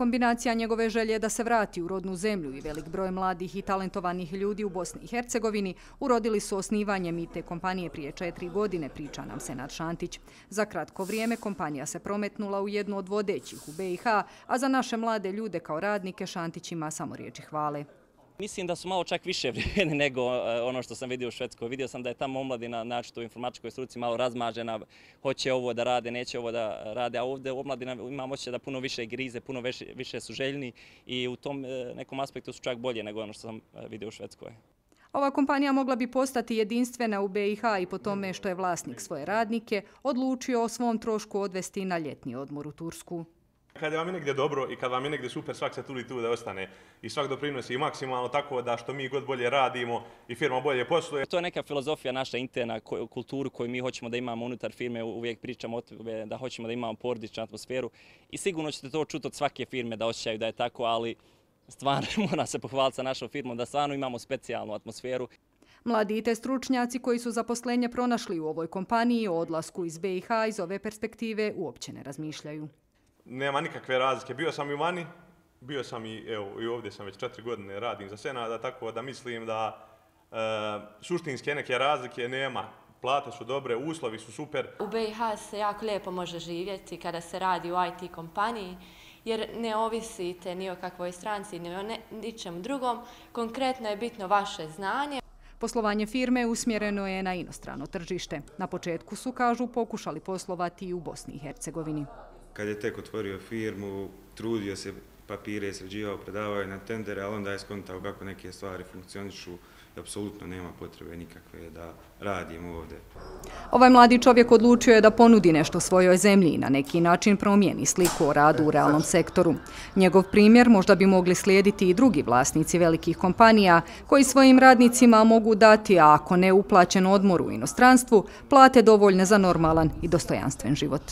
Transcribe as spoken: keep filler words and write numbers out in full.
Kombinacija njegove želje da se vrati u rodnu zemlju i velik broj mladih i talentovanih ljudi u Bosni i Hercegovini urodili su osnivanjem i te kompanije prije četiri godine, priča nam Senad Šantić. Za kratko vrijeme kompanija se prometnula u jednu od vodećih u B i H, a za naše mlade ljude kao radnike Šantić ima samo riječi hvale. Mislim da su malo čak više vrijedni nego ono što sam vidio u Švedskoj. Vidio sam da je tamo omladina, znači u informatičkoj struci, malo razmažena, hoće ovo da rade, neće ovo da rade, a ovdje omladina imam osjećaj da puno više grize, puno više, više su željni i u tom nekom aspektu su čak bolje nego ono što sam vidio u Švedskoj. Ova kompanija mogla bi postati jedinstvena u B i H i po tome što je vlasnik svoje radnike odlučio o svom trošku odvesti na ljetni odmor u Tursku. Kad vam je negdje dobro i kad vam je negdje super, svak se tuli tu da ostane i svak doprinosi maksimalno, tako da što mi god bolje radimo i firma bolje posluje. To je neka filozofija naša interna kulturu koju mi hoćemo da imamo unutar firme, uvijek pričamo o tome da hoćemo da imamo porodičnu atmosferu i sigurno ćete to čuti od svake firme da osjećaju da je tako, ali stvarno mora se pohvaliti sa našom firmom da stvarno imamo specijalnu atmosferu. Mladi i te stručnjaci koji su zaposlenje pronašli u ovoj kompaniji o odlasku iz B i H iz ove perspektive uopće ne razmišljaju. Nema nikakve razlike. Bio sam i vani, bio sam i, evo, i ovdje sam već četiri godine radim za Senada, tako da mislim da e, suštinske neke razlike nema. Plate su dobre, uslovi su super. U B i H se jako lijepo može živjeti kada se radi u I T kompaniji, jer ne ovisite ni o kakvoj stranci, ni o ničem drugom. Konkretno je bitno vaše znanje. Poslovanje firme usmjereno je na inostrano tržište. Na početku su, kažu, pokušali poslovati i u Bosni i Hercegovini. Kad je tek otvorio firmu, trudio se, papire sređivao, predavao na tendere, ali onda je skontao kako neke stvari funkcionišu i apsolutno nema potrebe nikakve da radim ovdje. Ovaj mladi čovjek odlučio je da ponudi nešto svojoj zemlji i na neki način promijeni sliku o radu u realnom sektoru. Njegov primjer možda bi mogli slijediti i drugi vlasnici velikih kompanija koji svojim radnicima mogu dati, a ako ne uplaćen odmor u inostranstvu, plate dovoljne za normalan i dostojanstven život.